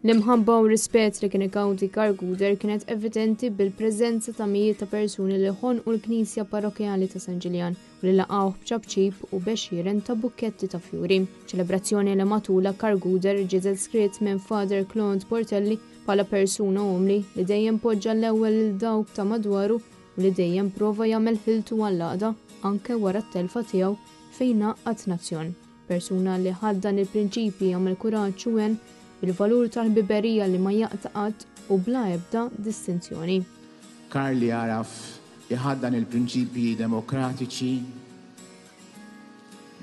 L-imħabba u rispett li kien igawdi Karl Gouder kienet evidenti bil-preżenza ta' mijiet ta' persuni li ħonqu l-Knisja Parrokkjali ta' San Ġiljan u li laqgħuh b'ċapċip u b'għexieren ta' bukketti ta' fjuri. Ċelebrazzjoni li matulha Karl Gouder ġie deskritt minn Father Claude Portelli bħala persuna umli li dejjem poġġa l-ewwel lil dawk ta' madwaru u li dejjem prova jagħmel ħiltu għall-għaqda anke wara t-telfa tiegħu fejn għaqqad nazzjon. Persuna li ħaddan il-prinċipji jagħmel kuraġġ u għen bil-valur tal-ħbiberija li ma jaqta' qatt u bla ebda distinzjoni. Karl li għaraf iħaddan il-prinċipji demokratiċi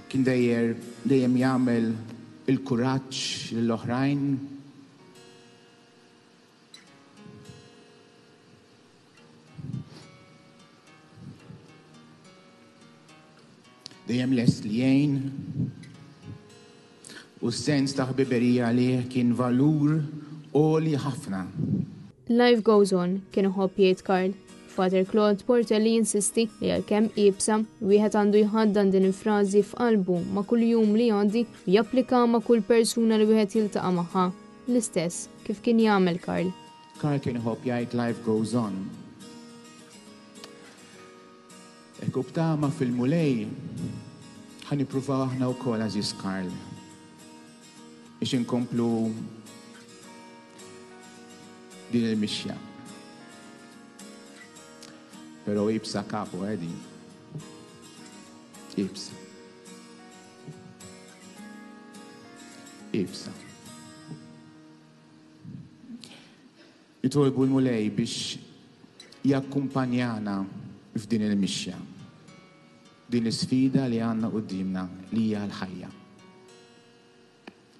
kien dejjer dejjem jagħmel il-kuraġġ lill-oħrajn. Dejjem lest li jgħin u s-sens ta' ħbiberija għalih kien valur għoli ħafna. Life goes on, kien iħobb jgħid Karl. Father Claude Portelli jinsisti li għalkemm iebsa, wieħed għandu jħaddan din il-frażi f'qalbu ma' kull jum li jgħaddi u japplika ma' kull persuna li wieħed jiltaqa' magħha. L-istess kif kien jagħmel Karl. Karl kien iħobb jgħid life goes on. Hekk u b'tama fil-Mulej ħa nippruvaw aħna wkoll għażiż Karl biex inkomplu din il-mixja. Però ibsa kapu għedi. Eh, ibsa. Ibsa. Nitolbu l-Mulej biex jakkumpanjana f'din il-mixja, din l-isfida li għandna quddiemna li hija l-ħajja.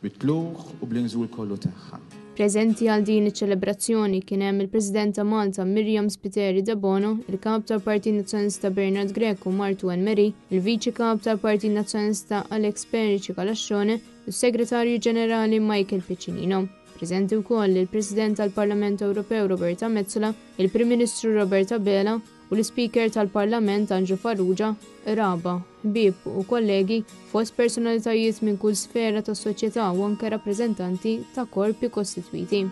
Bit-tlugħ u bl-inżul kollu tagħha. Preżenti għal din iċ-ċelebrazzjoni kien hemm il-President ta' Malta Myriam Spiteri Debono, il-Kap tal-Partit Nazzjonalista Bernard Grech u martu Anne Marie, il-Viċi Kap tal-Partit Nazzjonalista Alex Perici Calascione u s-Segretarju Ġenerali Michael Piccinino. Preżenti wkoll il-President tal-Parlament Ewropew Roberta Metsola, il-Prim Ministru Robert Abela u l-Ispeaker tal-Parlament Anġlu Farrugia, qraba, ħbieb u kollegi fost personalitajiet minn kull sfera tas-soċjetà u anke rappreżentanti ta' korpi kostitwiti.